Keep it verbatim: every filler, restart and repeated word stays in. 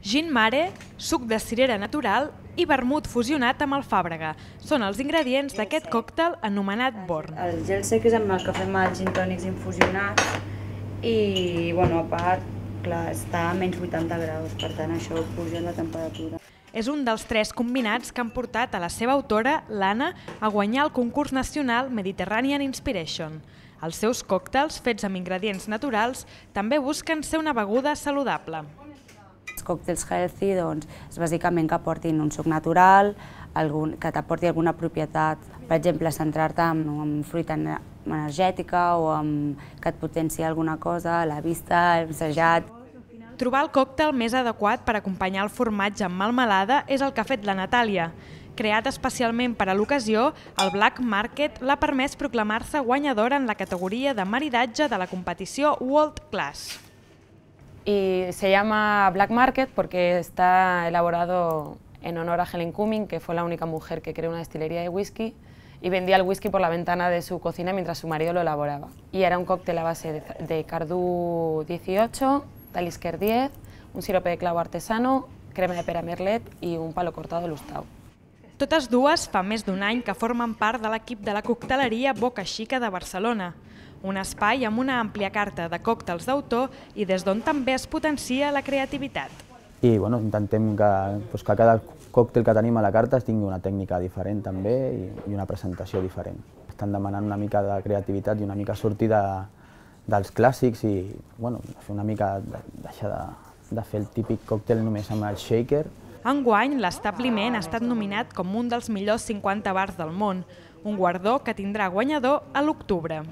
Gin mare, suc de cirera natural i vermut fusionat amb alfàbrega. Són els ingredients d'aquest còctel anomenat Born. El gel sec és amb el que fem els gin tònics infusionats i, bueno, a part, clar, està a menys vuitanta graus, per tant això puja la temperatura. És un dels tres combinats que han portat a la seva autora, l'Anna, a guanyar el concurs nacional Mediterranean Inspiration. Els seus còctels, fets amb ingredients naturals, també busquen ser una beguda saludable. Els còctels healthy, doncs, és bàsicament que aportin un suc natural, algun, que t'aporti alguna propietat, per exemple, centrar-te en, en fruita energètica o en, que et potenciï alguna cosa, la vista, el sejat. Trobar el còctel més adequat per acompanyar el formatge amb melmelada és el que ha fet la Natàlia. Creat especialment per a l'ocasió, el Black Market l'ha permès proclamar-se guanyadora en la categoria de maridatge de la competició World Class. Y se llama Black Market porque está elaborado en honor a Helen Cumming, que fue la única mujer que creó una destilería de whisky y vendía el whisky por la ventana de su cocina mientras su marido lo elaboraba. Y era un cóctel a base de, de Cardú dieciocho, Talisker diez, un sirope de clavo artesano, crema de pera merlet i un palo cortado lustau. Totes dues fa més d'un any que formen part de l'equip de la cocteleria Boca Xica de Barcelona, un espai amb una àmplia carta de còctels d'autor i des d'on també es potencia la creativitat. I bueno, intentem que, doncs, que cada còctel que tenim a la carta tingui una tècnica diferent també i, i una presentació diferent. Estan demanant una mica de creativitat i una mica sortir de, dels clàssics i bueno, fer una mica de, deixar de, de fer el típic còctel només amb el shaker. Enguany, l'Establiment ha estat nominat com un dels millors cinquanta bars del món, un guardó que tindrà guanyador a l'octubre.